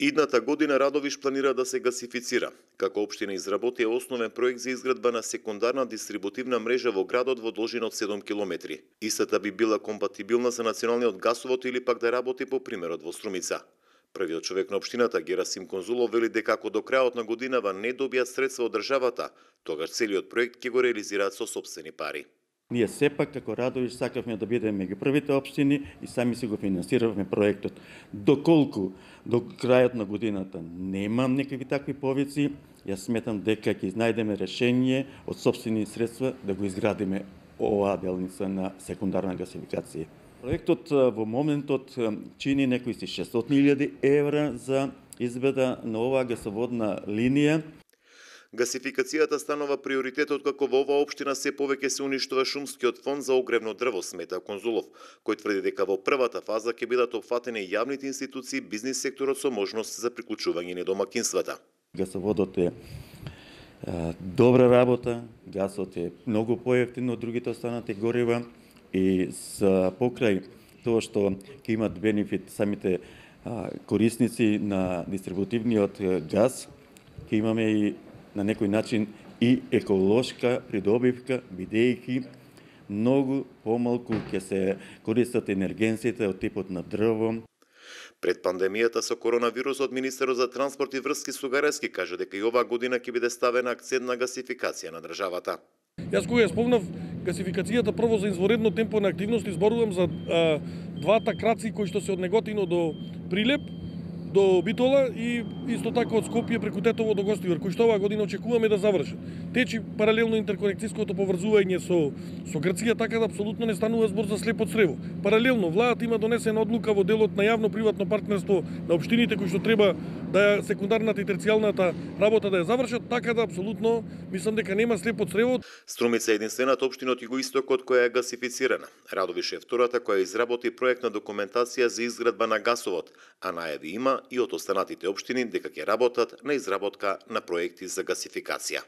Идната година Радовиш планира да се гасифицира. Како општина изработи основен проект за изградба на секундарна дистрибутивна мрежа во градот во должина од 7 километри. Истата би била компатибилна за националниот гасовод или пак да работи по примерот во Струмица. Првиот човек на општината, Герасим Конзулов, вели дека ако до крајот на годинава не добијат средства од државата, тогаш целиот проект ќе го реализираат со сопствени пари. Ние сепак како Радовиш сакавме да бидеме меѓу првите општини и сами си го финансиравме проектот. Доколку до крајот на годината немам некакви такви повици, јас сметам дека ќе најдеме решение од сопствени средства да го изградиме оваа делница на секундарна гасификација. Проектот во моментот чини некои 600.000 евра за изведа на оваа гасоводна линија. Гасификацијата станува приоритетот како во оваа општина се повеќе се уништува шумскиот фонд за огревно дрво, смета Конзулов, кој тврди дека во првата фаза ќе бидат опфатени јавните институции, бизнис секторот со можност за приклучување на домакинствата. Гасоводот е добра работа, гасот е многу поевтин од другите останати горива и за покрај тоа што ќе имат бенефит самите корисници на дистрибутивниот газ, ќе имаме и на некој начин и еколошка придобивка, бидејќи многу помалку ќе се користат енергенците од типот на дрво. Пред пандемијата со коронавирусот, министерот за транспорт и врски Сугарески кажа дека и оваа година ќе биде ставен акцент на гасификација на државата. Јас кога ја спомнав гасификацијата прво за изворедно темпо на активности, зборувам за двата краци кои што се од Неготино до Прилеп, до Битола и исто така од Скопје преку Тетово до Гостивар, кои што оваа година очекуваме да завршат. Течи паралелно интерконекцијското поврзување со Грција, така да апсолутно не станува збор за слепо црево. Паралелно владата има донесена одлука во делот на јавно-приватно партнерство на општините кои што треба да секундарната и терцијалната работа да ја завршат, така да апсолутно мислам дека нема слепо црево. Струмица е единствената општина од југоистокот која е гасифицирана. Радовиш е втората која изработи проектна документација за изградба на гасовод, а најави има и од останатите општини дека ќе работат на изработка на проекти за гасификација.